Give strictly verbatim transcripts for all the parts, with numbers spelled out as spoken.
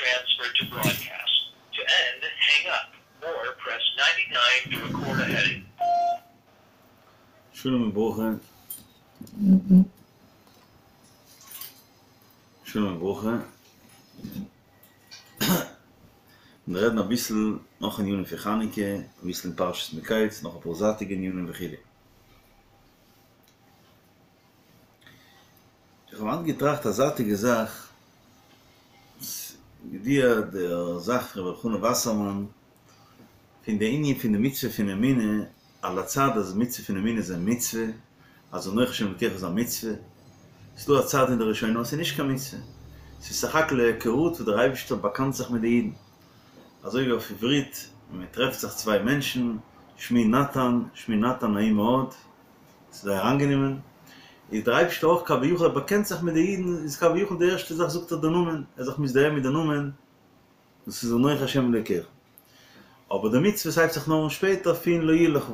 transferred to broadcast. To end, hang up or press ninety-nine to record a heading. שלום וברכה. שלום וברכה. מיר רעדן אביסל נאך ענינים פון חנוכה, אביסל אין פרשת מקץ, נאך אפאר זייטיגע ענינים וכו'. איך האב היינט געטראכט א זייטיגע זאך, ידוע דער זאך פון רבי אלחנן וואסערמאן, פון די ענין פון די מצוה פון אמונה, על הצד אז מצוה פון אמונה איז א מצוה, אז אנכי השם אלקיך איז א מצוה, ס'איז דא א צד אין די ראשונים אז ס'איז נישט קיין מצוה, ס'איז סך הכל א היכרות וואס דער אייבערשטער באקאנט זיך מיט די אידן, אזוי ווי אויף עברית ווען מען טרעפט זיך צוויי מענטשן, שמי נתן, שמי נתן נעים מאוד, ס'איז זייער אנגענומען, איז דער אייבערשטער אויך כביכול ער באקענט זיך מיט די אידן, איז כביכול די ערשטע זאך זאגט ער די נאמען, ער איז זיך מזדהה מיט די נאמען, דאס איז אנכי השם אלקיך. אבער די מצוות הייבט זיך נאר אן שפעטער פון לא יהיה לך.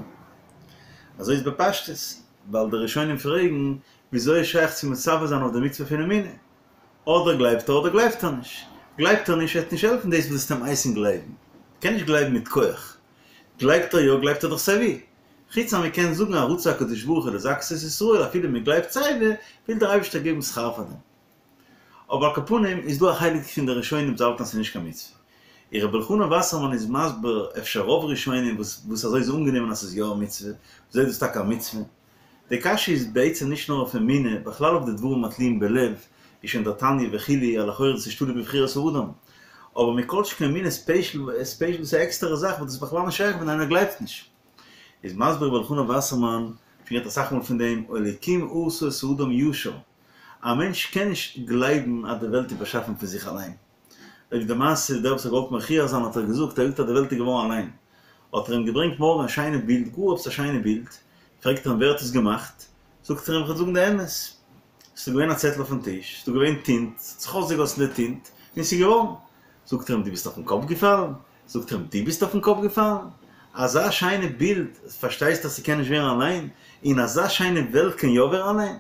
אזוי איז בפשטות, ווייל די ראשונים פרעגן, וויאזוי איז שייך צו מצווה זיין אויף די מצוה פון אמונה? אדער גלייבט ער אדער גלייבט ער נישט. גלייבט ער נישט וועט נישט העלפן דאס וואס וועסט אים הייסן גלייבן. קען נישט גלייבן מיט כח. גלייבט ער יא גלייבט ער דאך סייווי. חוץ אז מען קען זאגן אז רצה הקדוש ברוך הוא לזכות את ישראל אפילו מען גלייבט סייווי, וויל דער אייבערשטער געבן שכר פאר דעם. אבער על כל פנים איז דא א חלק פון די ראשונים וואס האלטן אז ס'איז נישט קיין מצוה. און רבי אלחנן וואסערמאן איז מסביר אפשר רוב ראשונים וואס וואס אזוי איז אנגענומען אז ס'איז יא א מצוה, וויאזוי איז דאס טאקע א מצוה? די קשיא איז בעצם נישט נאר אויף אמונה, בכלל אויף די דברים התלויים בלב, ווי שוין דער תניא וכו', אז לכאורה דאס איז תלוי בבחירת האדם. אבער מכל שכן אמונה ספעשל, ספעשל דאס איז א עקסטערע זאך וואס דאס איז בכלל נישט שייך ווען איינער גלייבט נישט. איז מסביר רבי אלחנן וואסערמאן, שוין גערעדט אסאך מאל פון דעם, אלוקים עשה את האדם ישר, א מענטש קען נישט גלייבן אז די וועלט איז באשאפן פון זיך אליין. אויב די מעשה דער וואס האט געוואלט מוכיח זיין האט ער געזאגט ער זאגט אז די וועלט איז געווארן אליין. האט ער אים געברענגט מארגן א שיינע בילד, גאר עפעס א שיינע בילד, פרעגט ער אים ווער האט עס געמאכט, זאגט ער אים איך וועל זאגן די אמת, ס'איז דא געווען א צעטל אויפן טיש, ס'איז דא געווען טינט, ס'האט זיך אויסגעגאסן די טינט, און ס'איז געווארן. זאגט ער אים דו ביסט אויפן קאפ געפאלן? זאגט ער אים דו ביסט אויפן קאפ געפאלן? אזא שיינע בילד, פארשטייסט אז ס'קען נישט ווערן אליין, און אזא שיינע וועלט קען יא ווערן אליין?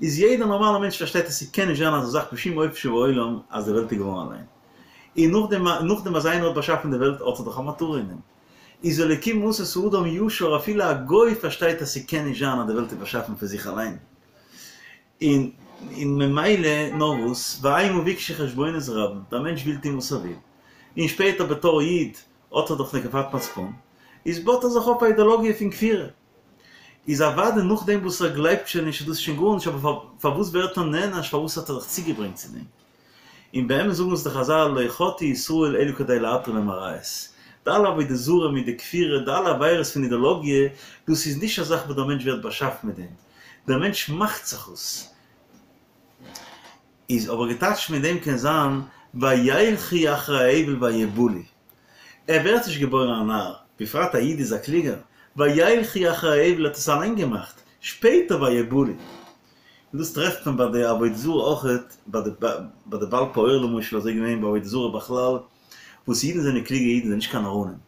איז יעדער נארמאלער מענטש פארשטייט אז ס'קען נישט זיין אזא זאך בשום אופן שבעולם אז די וועלט איז געווארן אליין. און נאכדעם נאכדעם אז איינער האט באשאפן די וועלט האט ער דאך א מטרה אין דעם. איז אלוקים עשה את האדם ישר אפילו א גוי פארשטייט אז ס'קען נישט זיין אז די וועלט איז באשאפן פון זיך אליין. און און ממילא נאר וואס, והמה ביקשו חשבונות רבים, דער מענטש וויל טון וואס ער וויל. און שפעטער בתור איד האט ער דאך נקיפת מצפון, איז בויט ער זיך אויף א אידעלאגיע פון כפירה. איז אוודאי נאכדעם וואס ער גלייבט שוין נישט איז דאס שוין גארנישט אבער פארוואס ווערט ער נענש פארוואס האט ער זיך צוגעברענגט צו דעם? און באמת זאגן אונז די חזל לא חטאו ישראל אלא כדי להתיר להם עריות די אלע עבודה זרה מיט די כפירה די אלע עבירות פון אידעלאגיע דאס איז נישט א זאך וואס דער מענטש ווערט באשאפן מיט דעם דער מענטש מאכט זיך עס איז אבער געטייטשט מיט דעם קען זיין וילכו אחרי ההבל ויבלו ער ווערט נישט געבוירן א נאר, בפרט א איד איז א קלוגער, וילכו אחרי ההבל האט עס אליין געמאכט, שפעטער ויבלו. און דאס טרעפט מען ביי די עבודה זרה אויכעט, ביי די ביי די בעל פעור למשל, אזוי געווען ביי עבודה זרה בכלל, וואס אידן זענען קלוגע אידן זענען נישט קיין נאראנים,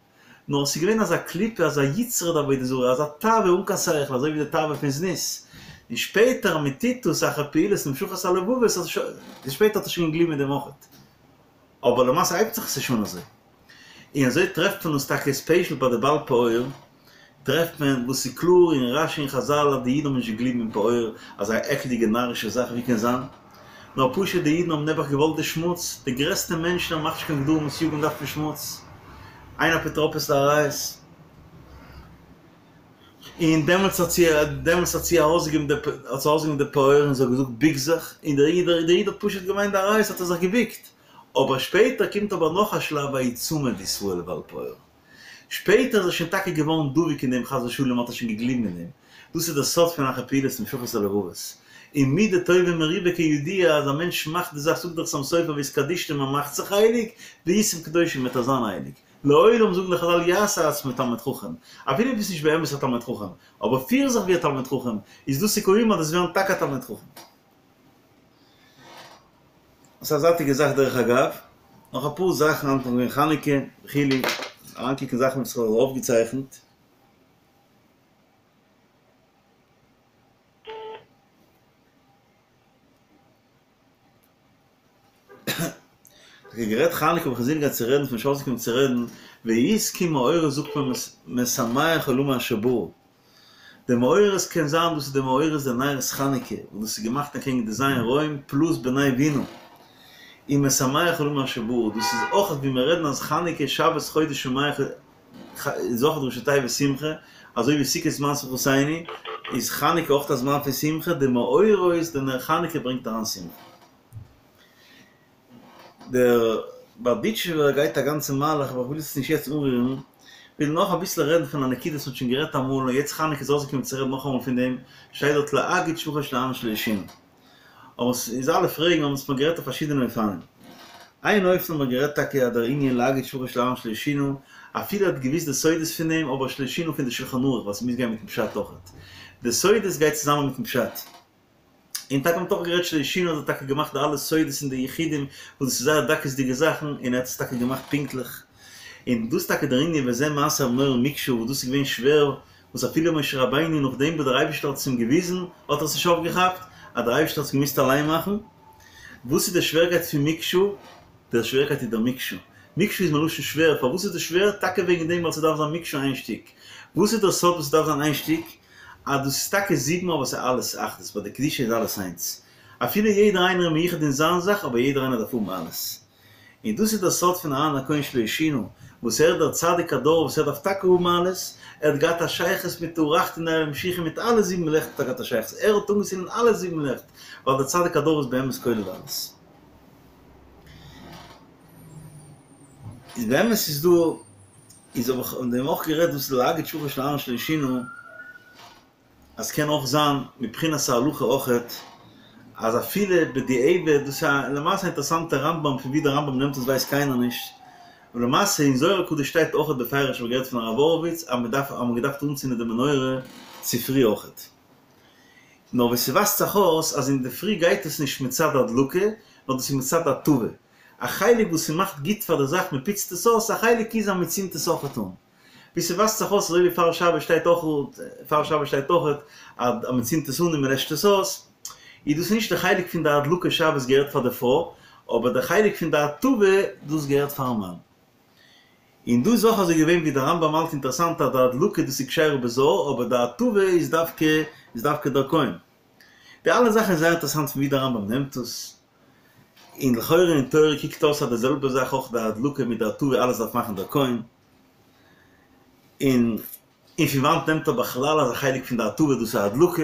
נאר עס איז געווען אזא קליפה אזא יצרא דעבודה זרה, אזא תאווה אן קיין שכל, אזוי ווי די תאווה פון זנות, און שפעטער אז מען טוט דאס אחר פעולות נמשכות הלבבות, אז שפעטער האט ער שוין געגליבן אין דעם אויכעט. אבער למעשה הייבט זיך עס נישט אן אזוי. און אזוי טרעפט מען עס טאקע ספעשל ביי די בעל פעור, טרעפט מען וואס איז קלאר אין רשי און חזל אז די אידן האבן נישט געגליבן אין פעור, אזא עקלדיגע נארישע זאך ווי קען זיין? נאר פשוט די אידן האבן נעבעך געוואלט די שמוץ, די גרעסטע מענטשן האבן מאכט נישט קיין גדרים וסייגים דארף מען שמוץ, אין אפוטרופוס לעריות. און דעמאלטס האט זי דעמאלטס האט זי ארויסגעגעבן די האט זי ארויסגעגעבן די פעור און זי האט געזאגט ביק זיך, און דער איד דער איד האט פשוט געמיינט די עריות האט ער זיך געביקט, אבער שפעטער קומט אבער נאך א שלב ויצמד ישראל לבעל פעור, שפעטער איז ער שוין טאקע געווארן דבוק אין דעם חס ושלום האט ער שוין געגליבן אין דעם, דאס איז דער סוד פון אחר פעולות נמשכות הלבבות, און מידה טובה מרובה כידוע אז א מענטש מאכט די זאך זאגט דער חתם סופר והתקדשתם מען מאכט זיך הייליג, והייתם קדושים וועט ער זיין הייליג. לעולם זאגן די חזל יעשה עצמו תלמיד חכם, אפילו ביסט נישט באמת א תלמיד חכם, אבער פיר זיך ווי א תלמיד חכם, איז דא סיכויים אז דו'סט ווערן טאקע א תלמיד חכם. ס'איז א זייטיגע זאך דרך אגב, נאך אפאר זאכן היינט נאך געווען חנוכה וכו', אריינקוקן זאכן וואס איך האב אויפגעצייכנט. טאקע גערעדט חנוכה האב איך אינזין געהאט צו רעדן פון נישט אויסגעקומען צו רעדן, ויזכו מאורות זאגט מען משמח עולמו אשר ברא. די מאורות קען זיין דאס איז די מאורות די נרות חנוכה וואס דאס איז געמאכט אקעגן די ז' רועים פלוס בני בינה און משמח עולמו אשר ברא דאס איז אויך ווי מיר רעדן אז חנוכה שבת חודש שמח איז אויך ראשי תיבות שמחה אזוי ווי סוכות זמן שמחתינו איז חנוכה אויך א זמן פון שמחה די מאורות די נר חנוכה ברענגט אריין שמחה. דער בארדיטשובער גייט א גאנצע מהלך אבער איך וויל עס נישט יעצט אנרירן, כ'וויל נאך אביסל רעדן פון א נקודה וואס מ'האט שוין גערעדט אמאל און יעצט חנוכה איז אויסגעקומען צו רעדן נאכאמאל פון דעם, שטייט דארט להגיד שבחו של אהרן שלא שינה. אבער ס'איז אלע פרעגן האבן עס מיר גערעדט אויף פארשידענע אופנים. איין אופן האט מען גערעדט טאקע אז דער ענין להגיד שבחו של אהרן שלא שינה, אפילו ער האט געוויסט די סודות פון דעם אבער שלא שינה פון די שלחן ערוך ווייל ס'מוז גיין מיטן פשט אויכעט. די סודות גייט צוזאמען מיטן פשט. און טאקע מ'האט אויך גערעדט שלא שינה האט ער טאקע געמאכט די אלע סודות און די יחודים וואס דאס איז זייער דקות'דיגע זאכן און ער האט עס טאקע געמאכט פונקטליך און דאס טאקע דער ענין וזה מעשה המנורה מקשה וואס דאס איז געווען שווער וואס אפילו משה רבינו נאכדעם וואס דער אייבישטער האט עס אים געוויזן האט ער עס נישט אויפגעכאפט אז דער אייבישטער האט עס געמוזט אליין מאכן וואס איז די שווערקייט פון מקשה? דער שווערקייט איז דער מקשה. מקשה איז מלשון שווער, פארוואס איז דאס שווער? טאקע וועגן דעם ווייל ס'דארף זיין מקשה איין שטיק. וואס איז דער סוד וואס ס'דארף זיין איין שטיק? אז דאס איז טאקע זיבן אבער ס'איז אלעס אחדות, ביי די קדושה איז אלעס איינס. אפילו יעדער איינער איז מיוחד אין זיין זאך אבער יעדער איינער דארף האבן אלעס. און דאס איז דער סוד פון אהרן הכהן שלא שינה, וואס ער איז דער צדיק הדור וואס ער דארף טאקע האבן אלעס, ער האט געהאט א שייכות מיט אורחתין דנהירי משיחא מיט אלע זיבן לעכט האט ער געהאט א שייכות, ער האט אנגעצינדן אלע זיבן לעכט, ווייל דער צדיק הדור איז באמת כולל אלעס. איז באמת איז דא איז האב איך אויף דעם אויך גערעדט דאס להגיד שבחו של אהרן שלא שינה אז קען אויך זיין מבחינת ההלכה אויכעט אז אפילו בדיעבד דאס איז א למעשה אינטערעסאנטע רמב ם פון ווי דער רמב ם נעמט עס ווייסט קיינער נישט אבער למעשה אין זוהר הקדוש שטייט אויכעט בפירוש האב איך געהערט פון הרב הורוביץ אז מען דארף אז מען האט געדארפט אנצינדען די מנורה צופרי אויכעט נאר ווי ס'ווייזט זיך אויס אז אינדערפרי גייט עס נישט מצד הדלקה נאר דאס איז מצד הטבה א חלק וואס ס'מאכט גוט פאר די זאך מ'פוצט עס אויס, א חלק איז אז מ'צינדט עס אויכעט אן. ווי ס'ווייזט זיך אויס אזוי ווי פאר שבת שטייט אויך פאר שבת שטייט אויכעט אז מ'צינדט עס אן און מ'לעשט עס אויס, איז דאס נישט די חלק פון די הדלקה שבת געהערט פאר די פרוי, אבער די חלק פון די הטבה דאס געהערט פארן מאן. און דא איז אויך אזוי געווען ווי די רמב ם האלט אינטערעסאנט אז די הדלקה דאס איז כשרה בזר אבער די הטבה איז דווקא איז דווקא דער כהן. די אלע זאכן איז זייער אינטערעסאנט פון ווי די רמב ם נעמט עס. און לכאורה אין תורה קוקט אויס אז די זעלבע זאך אויך די הדלקה מיט די הטבה אלעס דארף מאכן דער כהן, און און פון וואנט נעמט ער בכלל אז א חלק פון די הטבה דאס איז הדלקה,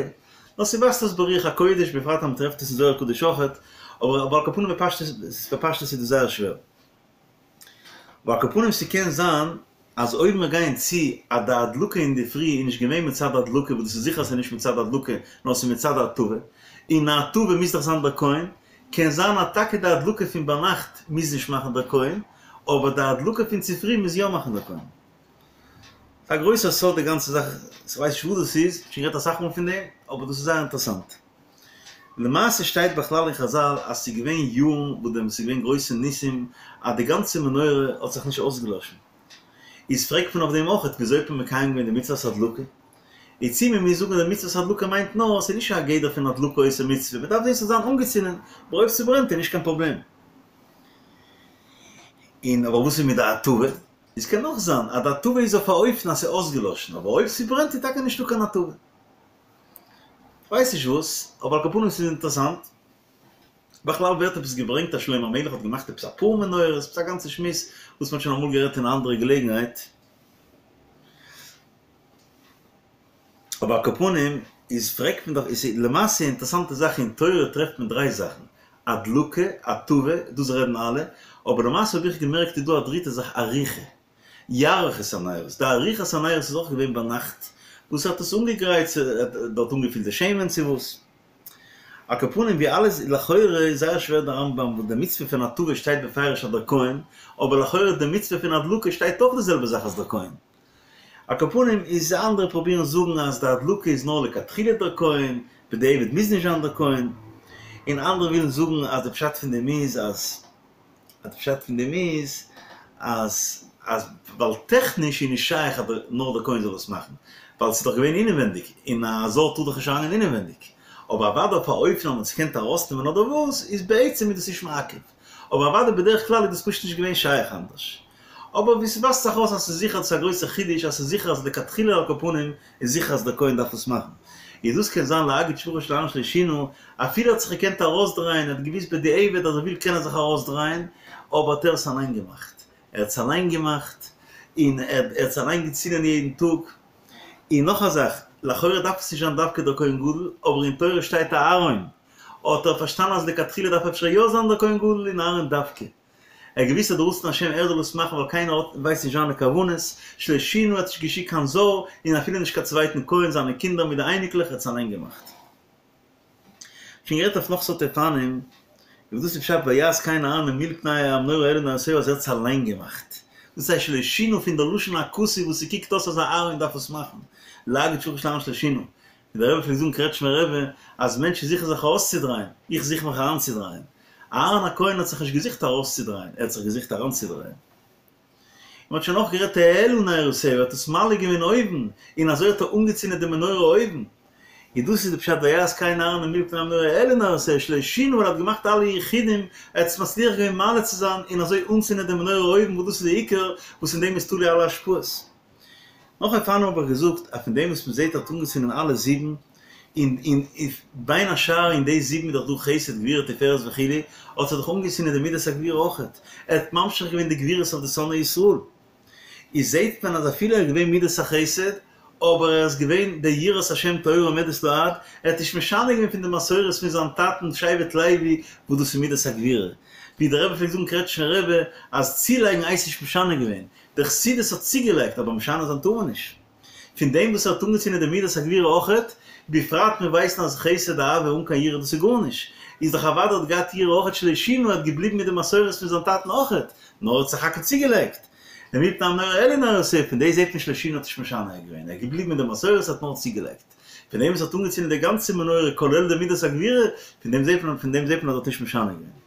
נאר ס'ווייזט אויס ברוח הקודש בפרט אז מ'טרעפט עס אין זוהר הקדוש אויכעט, אבער אבער על כל פנים בפשטות בפשטות איז דאס זייער שווער. אבער על כל פנים ס'קען זיין אז אויב מיר גייען צו אז די הדלקה אינדערפרי איז נישט געווען מצד הדלקה וואס דאס איז זיכער אז ס'איז נישט מצד הדלקה נאר ס'איז מצד הטבה, און הטבה מוז דאך זיין דער כהן, קען זיין אז טאקע די הדלקה פון ביינאכט מוז נישט מאכן דער כהן, אבער די הדלקה פון צופרי מוז יא מאכן דער כהן. ס'איז א גרויסער סוד די גאנצע זאך, כ'ווייס נישט וואס דאס איז, שוין גערעדט אסאך מאל פון דעם, אבער דאס איז זייער אינטערעסאנט. למעשה שטייט בכלל אין חזל אז ס'איז געווען יארן וואס דעם ס'איז געווען גרויסע ניסים אז די גאנצע מנורה האט זיך נישט אויסגעלאשן. איז פרעגט מען אויף דעם אויכעט וויאזוי האט מען מקיים געווען די מצוות הדלקה? איז צו מען מוז זאגן אז די מצוות הדלקה מיינט נאר ס'איז נישט א גדר פון הדלקה עושה מצוה, מ'דארף זען ס'זאל זיין אנגעצינדן, אבער אויב ס'ברענט איז נישט קיין פראבלעם. און אבער וואס איז מיט די הטבה? איז קען אויך זיין אז די הטבה איז אויף א אופן אז ס'איז אויסגעלאשן, אבער אויב ס'ברענט איז טאקע נישטא קיין הטבה. כ'ווייס נישט וואס, אבער על כל פנים ס'איז אינטערעסאנט. בכלל ווערט עפעס געברענגט אז שלמה המלך האט געמאכט עפעס אפאר מנורות, עפעס א גאנצע שמועס וואס מ'האט שוין אמאל גערעדט אין א אנדערע געלעגנהייט. אבער על כל פנים איז פרעגט מען דאך, איז למעשה אינטערעסאנטע זאך אין תורה טרעפט מען דריי זאכן, הדלקה, הטבה, דאס רעדן אלע, אבער למעשה האב איך געמערקט איז דא א דריטע זאך עריכה. יערוך את הנרות, די עריכת הנרות איז אויך געווען ביינאכט, וואס ער האט עס אנגעגרייט, דארט אנגעפילט די שמן צו וואס. על כל פנים ווי אלעס לכאורה איז זייער שווער די רמב ם וואס די מצוה פון הטבה שטייט בפירוש אז דער כהן, אבער לכאורה די מצוה פון הדלקה שטייט אויך די זעלבע זאך אז דער כהן. על כל פנים איז אנדערע פרובירן זאגן אז די הדלקה איז נאר לכתחילה דער כהן, בדיעבד מוז נישט זיין דער כהן, און אנדערע ווילן זאגן אז די פשט פון דעם איז אז. אז די פשט פון דעם איז אז אז ווייל טעכניש איז נישט שייך אז נאר דער כהן זאל עס מאכן, ווייל ס'איז דאך געווען אינעווענדיג, און א זר טאר דאך נישט אריינגיין אינעווענדיג, אבער אוודאי אויף א אופן אז מ'האט עס געקענט ארויסנעמען אדער וואס, איז בעצם איז דאס נישט מעכב, אבער אוודאי בדרך כלל איז דאס פשוט נישט געווען שייך אנדערש. אבער ווי ס'ווייזט זיך אויס אז ס'איז זיכער צו א גרויסע חידוש אז ס'איז זיכער אז לכתחילה על כל פנים איז זיכער אז דער כהן דארף עס מאכן. איז דאס קען זיין להגיד שבחו של אהרן שלא שינה, אפילו ער האט זיך געקענט ארויסדרייען, ער האט געוויסט בדיעבד אז ער וויל קען ער זיך ארויסדרייען, אבער האט ער עס אליין געמאכט. ער האט עס אליין געמאכט, און ער האט עס אליין געצינדען יעדן טאג. און נאך א זאך, לכאורה דארף עס נישט זיין דווקא דער כהן גדול, אבער אין תורה שטייט אהרן, האט ער פארשטאנען אז לכתחילה דארף אפשר יא זיין דער כהן גדול און אהרן דווקא. ער האט געוואוסט אז דער רצון השם ער זאל עס מאכן ווייל קיינער האט ווייסט נישט זיינע כוונות, שלא שינה האט נישט געשיקט קיין זר און אפילו נישט קיין צווייטן כהן זיינע קינדער מיט די אייניקלעך ער האט עס אליין געמאכט. שוין גערעדט אויף נאך סארט אופנים, איבער דאס איז פשט ויעש כן אהרן אל מול פני המנורה העלה נרותיה אז ער האט עס אליין געמאכט. דאס הייסט שלא שינה פון דער לשון הכתוב וואס ס'קוקט אויס אז אהרן דארף עס מאכן, להגיד שבחו של אהרן שלא שינה. ווי דער רבי פלעגט זאגן קרעטשמער רבי אז מענטשן זוכן זיך ארויסצודרייען, איך זוך מיך אריינצודרייען. אהרן הכהן האט זיך נישט געזוכט ארויסצודרייען, ער האט זיך געזוכט אריינצודרייען. און מ'האט שוין אויך גערעדט העלה נרותיה, ער האט עס מעלה געווען אויבן, און אזוי האט ער אנגעצינדען די מנורה אויבן. און דאס איז די פשט ויעש כן אהרן אל מול פני המנורה העלה נרותיה שלא שינה ווייל ער האט געמאכט אלע יחודים, ער האט עס מצליח געווען מעלה צו זיין און אזוי אנצינדען די מנורה אויבן וואס דאס איז די עיקר וואס אין דעם איז תלוי אלע השפעות. נאך אופנים האב איך געזאגט אז פון דעם וואס מ'זעט ער האט אנגעצינדען אלע זיבן, און און בין השאר אין די זיבן איז דאך דא חסד גבורה תפארת וכו', האט ער דאך אנגעצינדען די מידת הגבורה אויכעט, ער האט ממשיך געווען די גבורות אויף די שונאי ישראל. איז זעט מען אז אפילו ער איז געווען מידת החסד, אבער ער איז געווען דער יראת השם טהורה עומדת לעד, ער האט נישט משנה געווען פון די מסורת פון זיין טאטן שבט לוי וואס דאס איז מידת הגבורה. ווי דער רבי פלעגט זאגן קרעטשניפער רבי אז צולייגן הייסט נישט משנה געווען, די חסידות האט צוגעלייגט אבער משנה זיין טאר מען נישט. פון דעם וואס ער האט אנגעצינדען די מידת הגבורה אויכעט, בפרט מיר ווייסן אז חסד אהבה אן קיין יראה דאס איז גארנישט, איז דאך אוודאי האט געהאט יראה אויכעט שלא שינה האט געבליבן מיט די מסורת פון זיין טאטן אויכעט, נאר ער האט סך הכל צוגעלייגט. אל מול פני המנורה העלה נרותיה, פון דאס זעט מען שלא שינה האט נישט משנה געווען, ער איז געבליבן מיט די מסורת האט נאר צוגעלייגט. פון דעם וואס ער האט אנגעצינדען די גאנצע מנורה כולל די מידת הגבורה, פון דעם זעט מען פון דעם זעט מען אז ער האט נישט משנה געווען.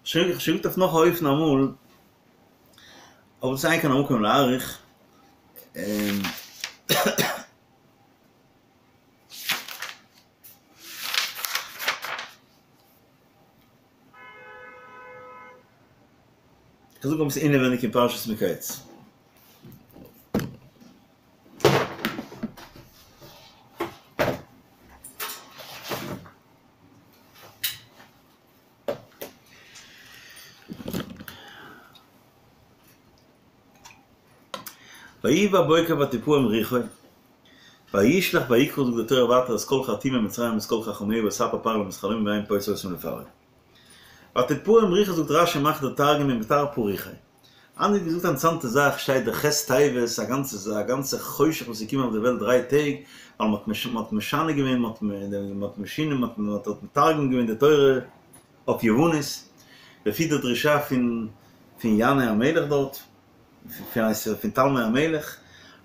שוין געזאגט אויף נאך א אופן אמאל. אבער דאס איז אין כאן המקום להאריך. איך זאג אביסל אינעווייניג אין פרשת מקץ. ויהי בבוקר ותפעם רוחו, וישלח ויקרא זאגט די תורה ווייטער את כל חרטומי מצרים ואת כל חכמיה ויספר פרעה להם את חלומו ויין פוצר אותם לפרעה. ותפעם רוחו זאגט רשי מאכט דער תרגום ומתרפא רוחיה. אנדערע האט געזאגט א אינטערעסאנטע זאך שטייט די ח' טבת א גאנצע א גאנצע חושך וואס איז געקומען אויף די וועלט דריי טעג ווייל מען האט משנה געווען מען האט משנה מען האט מתרגם געווען די תורה אויף יוונית לפי די דרישה פון פון ינאי המלך דארט פון הייסט פון תלמי המלך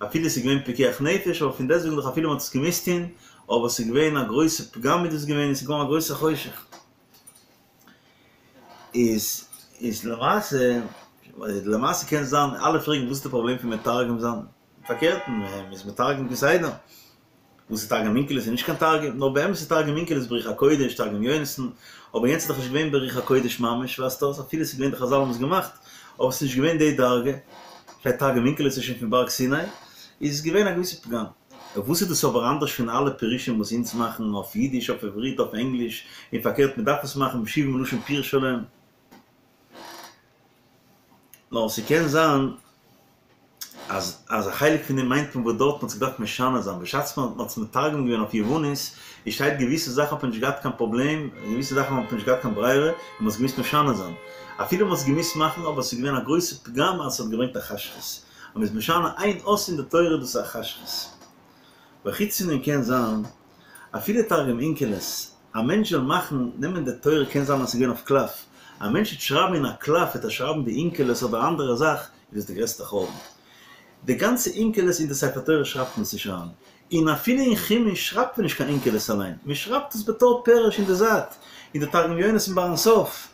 אפילו עס איז געווען פיקוח נפש אבער פון דעסטוועגן דאך אפילו מען האט עס געמוזט טון אבער עס איז געווען א גרויסע פגם איז דאס געווען עס איז געווארן א גרויסע חושך. איז איז למעשה למעשה קען זיין אלע פרעגן וואס איז די פראבלעם פון מתרגם זיין פארקערט מען איז מתרגם כסדר וואס איז תרגום אונקלוס איז נישט קיין תרגום נאר באמת איז תרגום אונקלוס ברוח הקודש תרגום יונתן אבער יענץ איז דאך נישט געווען ברוח הקודש ממש ווייזט אויס אפילו עס איז געווען די חזל האבן עס געמאכט אבער עס איז נישט געווען די דרגה פאר תרגום אונקלוס איז שוין פון בארג סיני איז געווען א געוויסע פגם. וואס איז דאס אבער אנדערש פון אלע פירושים וואס אונז מאכן אויף אידיש, אויף עברית, אויף ענגליש, און פארקערט מען דארף עס מאכן בשבעים לשון פירש עליהם? נאר ס'קען זיין אז אז א חלק פון דעם מיינט מען וואס דארט מ'האט זיך געדארפט משנה זיין, בשעת מען האט עס מתרגם געווען אויף יוונית, איז שטייט געוויסע זאכן האט מען נישט געהאט קיין פראבלעם, געוויסע זאכן האט מען נישט געהאט קיין ברירה, און מ'האט עס געמוזט משנה זיין. אפילו מ'האט עס געמוזט מאכן אבער ס'איז געווען א גרויסע פגם אז ס'האט געברענגט א חשכות. אז מ'איז משנה איין אות אין די תורה דאס איז א חשכות. וחוץ פון דעם קען זיין אפילו תרגום אונקלוס, א מענטש זאל מאכן, נעמען די תורה קען זיין אז ס'איז געווען אויף קלף, א מענטש וועט שרייבן אין א קלף וועט ער שרייבן די אונקלוס אדער אנדערע זאך איז דאס די גרעסטע חורבן. די גאנצע אונקלוס אין די ספר תורה שרייבט מען עס נישט אריין, און אפילו אין חומש שרייבט מען נישט קיין אונקלוס אליין, מען שרייבט עס בתור פירוש אין די זייט, אין די תרגום יונתן ביים סוף.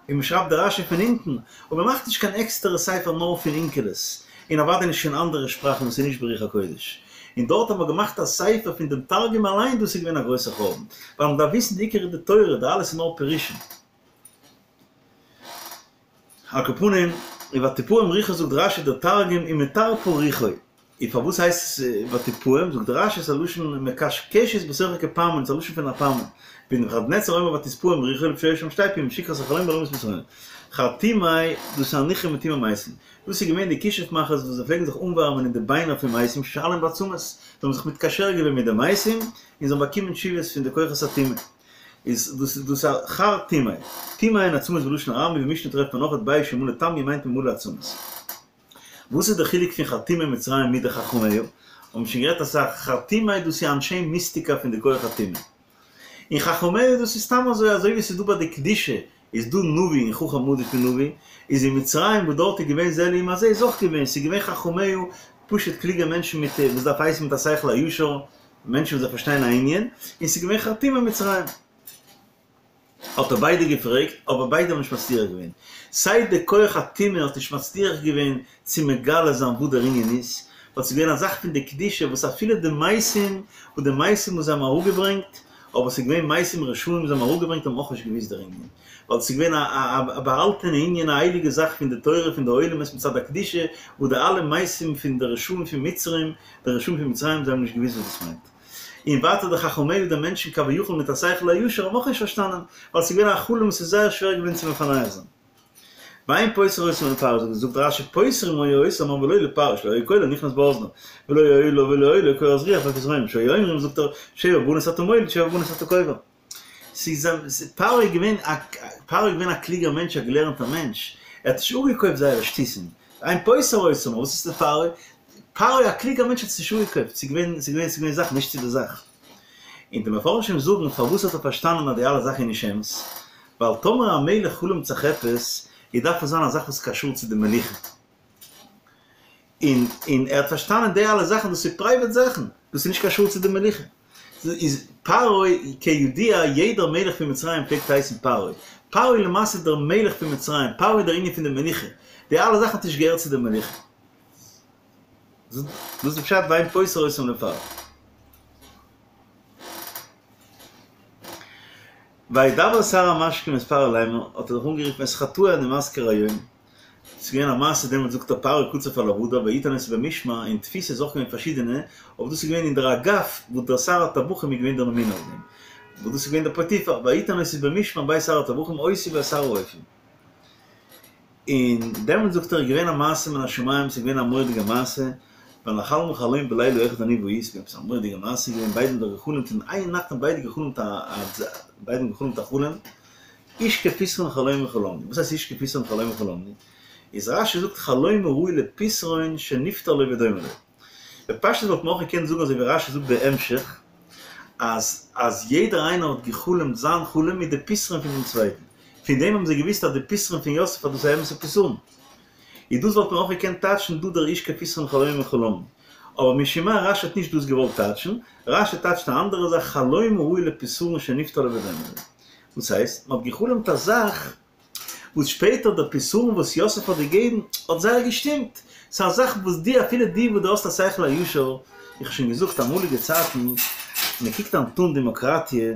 און מען שרייבט די רשי פון אונטן, אבער מען מאכט נישט קיין עקסטערע ספר נאר פון אונקלוס, און אוודאי נישט פון אנדערע שפראכן וואס איז נישט ברוח הקודש. און דארט האט מען געמאכט א ספר פון דעם תרגום אליין, דאס איז געווען א גרויסע חורבן, ווייל מען דארף וויסן די עיקר איז די תורה, די אלעס איז נאר פירושים. על כל פנים, ותפעם רוחו זאגט רשי דער תרגום ומטרפא רוחוי. און פארוואס הייסט עס ותפעם? זאגט רשי ס'איז א לשון מקשקשת בתוכו כפעמון, ס'איז א לשון פון א פעמון. ונבוכדנצר אומר ותתפעם רוחו לפי שהיו שם שתי פעימים שכרת החלום בעולמות מצרים. חרטומי, דאס איז אנוכי מטומאי מתים. דאס איז געווען די כישוף מאכערס וואס זיי פלעגן זיך אנווארעמען אין די ביינער פון מתים ששאלם בעצמות, זיי האבן זיך מתקשר געווען מיט די מתים און זיי האבן באקומען תשובות פון די כוחות הטומאה. איז דאס דאס א חרטומי. טומאה און עצמות בלשון ארמי במשנה טרעפט מען אויך בית שמלא טמיא מיינט מען מלא עצמות. וואס איז די חילוק פון חרטומי מצרים מיט די חכמיה? האבן שוין גערעדט אסאך, חרטומי דאס איז אנשי מיסטיקה פון די כח הטומאה. און חכמיה דאס איז סתם אזוי אזוי ווי ס'איז דא ביי די קדושה איז דא נביא און חכם עדיף פון נביא, איז אין מצרים וואס דארט איז געווען זה לעומת זה איז אויך געווען, ס'איז געווען חכמיה פשוט קלוגע מענטשן מיט וואס דארף הייסן מיט א שכל הישר, מענטשן וואס זיי פארשטייען א ענין, און ס'איז געווען חרטומי מצרים. האט ער ביידע געפרעגט, אבער ביידע האבן נישט מצליח געווען. סיי די כח הטומאה האט נישט מצליח געווען צו מגלה זיין וואס דער ענין איז, ווייל ס'איז געווען א זאך פון די קדושה וואס אפילו די מתים, וואס די מתים וואס זיי האבן אראפגעברענגט, אבער ס'איז געווען מתים רשעים וואס זיי האבן אראפגעברענגט האבן אויך נישט געוואוסט דער ענין, ווייל ס'איז געווען א באהאלטענע ענין א הייליגע זאך פון די תורה פון די עולמות מצד הקדושה, וואס די אלע מתים פון די רשעים פון מצרים, די רשעים פון מצרים זיי האבן נישט געוואוסט וואס דאס מיינט. און ווייטער די חכמיה די מענטשן כביכול מיט א שכל הישר האבן אויך נישט פארשטאנען, ווייל ס'איז געווען א חלום וואס איז זייער שווער געווען צו מפענח זיין. ואין פותר אותם לפרעה, זאגט רשי פותרים היו אותם אבל לא לפרעה שלא היה קולו נכנס באזניו, ולא היה לו ולא היה לו קורת רוח בפתרונם, שהיו אומרים זאגט ער שבע בנות אתה מוליד שבע בנות אתה קובר. ס'איז פרעה איז געווען א פרעה איז געווען א קלוגער מענטש א געלערנטער מענטש, ער האט נישט אפגעקויפט זייערע שטותים, ואין פותר אותם, וואס איז לפרעה? פרעה א קלוגער מענטש האט עס נישט אפגעקויפט, ס'איז געווען ס'איז געווען ס'איז געווען זאכן נישט צו די זאך. און די מפרשים זאגן פארוואס האט ער פארשטאנען אז די אלע זאכן איז נישט אמת, ווייל טאמער א מלך חלומ'ט זיך עפעס, איז דארף עס זיין א זאך וואס איז קשור צו די מלוכה. און און ער האט פארשטאנען די אלע זאכן דאס איז private זאכן, דאס איז נישט קשור צו די מלוכה. איז פרעה כידוע יעדער מלך פון מצרים פלעגט הייסן פרעה. פרעה למעשה איז דער מלך פון מצרים, פרעה איז דער ענין פון די מלוכה. די אלע זאכן האט נישט געהערט צו די מלוכה. דאס איז די פשט ואין פותר אותם לפרעה. וידבר שר המשקים את פרעה לאמר, האט ער זיך אנגערופן את חטאי אני מזכיר היום, ס'איז געווען א מעשה דעמאלטס זאגט ער פרעה קצף על עבדיו ויתן אותי במשמר, אין תפיסה איז אויך געווען פארשידענע, אבער דאס איז געווען אין דער אגף וואס דער שר הטבחים איז געווען דער ממונה אויף דעם, וואס דאס איז געווען דער פוטיפר, ויתן אותי במשמר בית שר הטבחים אותי ואת שר האופים. און דעמאלטס זאגט ער איז געווען א מעשה מן השמים, ס'איז געווען א מורא'דיגע מעשה, ונחלמה חלום בלילה אחד אני והוא, ס'איז געווען עפעס א מורא'דיגע מעשה געווען, ביידע האבן דאך גע'חלומ'ט אין איין נאכט האבן ביידע גע'חלומ'ט א ביידע האבן גע'חלומ'ט א חלום, איש כפתרון חלומו חלמנו, וואס הייסט איש כפתרון חלומו חלמנו? איז רשי זאגט חלום הראוי לפתרון שנפתר לו ודומה לו. בפשטות וואלט מען אויך געקענט זאגן אזוי ווי רשי זאגט בהמשך, אז אז יעדער איינער האט גע'חלומ'ט זיין חלום מיט די פתרון פון דעם צווייטן. פון דעם האבן זיי געוואוסט אז די פתרון פון יוסף אז דאס איז א אמת'ע פתרון. איז דאס וואלט מען אויך געקענט טייטשן דא דער איש כפתרון חלומו חלמנו. אבער משום מה רשי האט נישט דאס געוואלט טייטשן, רשי טייטשט א אנדערע זאך חלום הראוי לפתרון שנפתר לו ודומה לו. וואס הייסט? מען האט גע'חלומ'ט א זאך וואס שפעטער דער פתרון וואס יוסף האט געגעבן האט זייער געשטימט. ס'איז א זאך וואס דו אפילו דו וואס דו האסט א שכל הישר, איך האב שוין געזאגט אמאליגע צייטן, מען קוקט היינט אן דעמאקראטיע,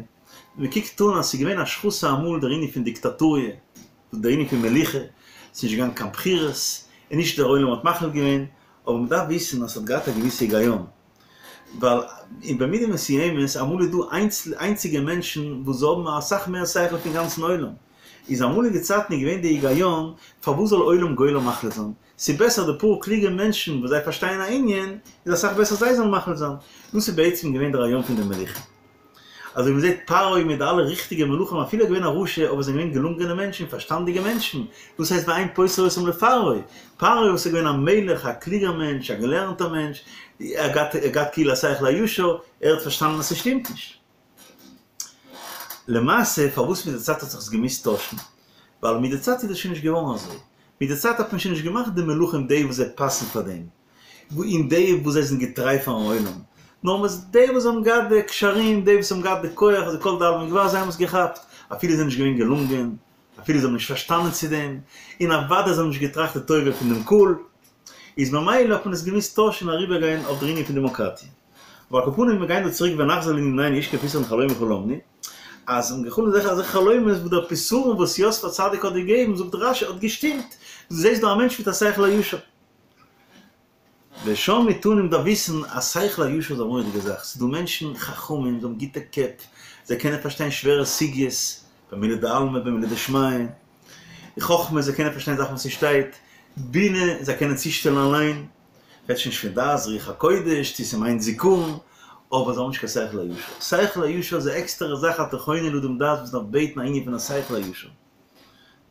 מען קוקט אן אז ס'איז געווען השחתה אמאל דער ענין פון דיקטאטוריע, דער ענין פון מלוכה, ס'איז נישט געגאנגען קיין בחירות, און נישט דער עולם האט מחליט געווען, אבער מען דארף וויסן אז ס'האט געהאט א געוויסע היגיון, ווייל אין במידה מסוימת אמאל איז דא איינציגע מענטשן וואס זיי האבן אסאך מער שכל פון גאנצן עולם, איז אמאליגע צייטן איז געווען די היגיון פארוואס זאל עולם גולם מחליט זיין, ס'איז בעסער די פאר קלוגע מענטשן וואס זיי פארשטייען א ענין, איז אסאך בעסער זיי זאלן מחליט זיין, דאס איז בעצם געווען די רעיון פון די מלוכה. אזוי ווי מ'זעט פרעה מיט די אלע ריכטיגע מלכים אפילו ער איז געווען א רשע אבער זענען געווען געלונגענע מענטשן פארשטאנדיגע מענטשן, דאס הייסט ואין פותר אותם לפרעה, פרעה וואס איז געווען א מלך א קלוגער מענטש א געלערנטער מענטש, ער האט געהאט כאילו א שכל הישר, ער האט פארשטאנען אז ס'שטימט נישט. למעשה פארוואס מיט די צייט האט זיך עס געמוזט טוישן? ווייל מיט די צייט איז עס שוין נישט געווארן אזוי, מיט די צייט האט מען שוין נישט געמאכט די מלכים די וואס זיי פאסן פאר דעם, און די וואס זיי זענען געטריי פארן עולם, נאר מ'איז די וואס האבן געהאט די קשרים, די וואס האבן געהאט די כח, די כל דאלים גבר, זיי האבן עס געכאפט, אפילו זיי זענען נישט געווען געלונגען, אפילו זיי האבן נישט פארשטאנען צו דעם, און אוודאי זיי האבן נישט געטראכט די טובה פון דעם קהל, איז ממילא האט מען עס געמוזט טוישן און אריבערגיין אויף דער ענין פון דעמאקראטיע. אבער על כל פנים, מיר גייען דא צוריק ונחזור לענינינו איש כפתרון חלומו חלמנו, אז האבן גע'חלומ'ט אזעלכע אזעלכע חלומות וואס דער פתרון וואס יוסף הצדיק האט געגעבן, זאגט רשי, האט געשטימט. דו זעסט דא א מענטש מיט א שכל הישר. ושם תני מ'דארף וויסן אז שכל הישר איז א מורא'דיגע זאך. ס'איז דא מענטשן חכמים, זיי האבן גוטע קעפ, זיי קענען פארשטיין שווערע סוגיות, במילי דעלמא במילי דשמיא, חכמה, זיי קענען פארשטיין זאכן וואס ס'שטייט, בינה, זיי קענען צושטעלן אליין, רעדט שוין נישט פון דעת רוח הקודש, צו ס'מיינט זיכרון, אבער זיי האבן נישט קיין שכל הישר. שכל הישר איז א עקסטערע זאך אתה חונן לאדם דעת וואס מ'דארף בעטן א ענין פון א שכל הישר.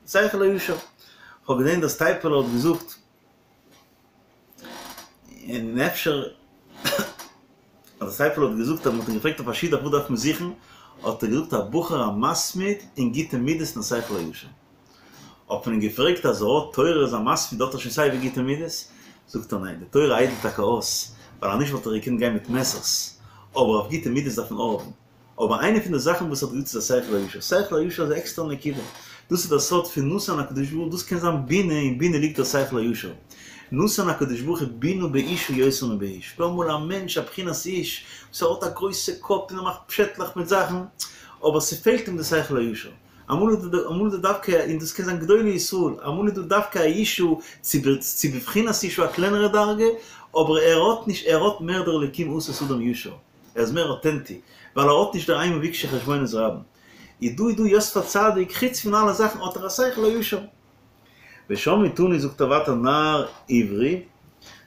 שכל הישר. כ'האב געזען דער סטייפלער האט געזאגט, און אפשר אז דער סטייפלער האט געזאגט אז מ'האט אים געפרעגט אויף א שידוך וואס דארף מען זוכן, האט ער געזאגט א בחור א מתמיד און גוטע מידות און א שכל הישר. האט מען אים געפרעגט אז ער האט תורה איז א מתמיד האט ער שוין סיי ווי גוטע מידות? זאגט ער ניין, די תורה איידלט טאקע אויס, ווייל אנישט וואלט ער געקענט גיין מיט מעסערס, אבער אויף גוטע מידות דארף מען האבן. אבער איינע פון די זאכן וואס האט געזאגט איז א שכל הישר. שכל הישר איז א עקסטערע נקודה. דאס איז דער סוד פון נתן הקדוש ברוך הוא, דאס קען זיין בינה, אין בינה ליגט דער שכל הישר. נתן הקדוש ברוך הוא בינה באישה יותר מבאיש. דא אמאל א מענטש א בחינת איש, וואס ער האט א גרויסע קאפ און ער מאכט פשעטלעך מיט זאכן, אבער ס'פעלט אים די שכל הישר. אמאל איז דא אמאל איז דא דווקא, און דאס קען זיין גדולי ישראל, אמאל איז דא דווקא א אישה, צו צו בבחינת אישה א קלענערע דרגה, אבער ער האט נישט, ער האט מער דער אלוקים עשה את האדם ישר. ער איז מער אוטענטי, ווייל ער האט נישט דער המה ביקשו חשבונות רבים. איז דא איז דא יוסף הצדיק, חוץ פון אלע זאכן האט ער א שכל הישר. ושם תני זאגט ער ווייטער נער עברי,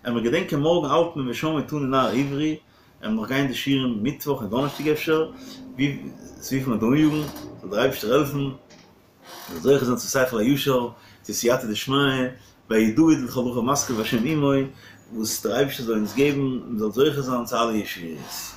עמער געדענקען מארגן האלט מען ושם תני נער עברי, עמער נאך גיין די שיעורים מיטוואך און דאנערשטאג אפשר, וויפיל מ'וועט אניאגן, זאל דער אייבערשטער העלפן. זאל זוכה זיין צו שכל הישר, צו סייעתא דשמיא, ויהי דוד לכל דרכיו משכיל והשם עמו, וואס דער אייבערשטער זאל אונז געבן, מען זאל זוכה זיין צו אלע ישועות.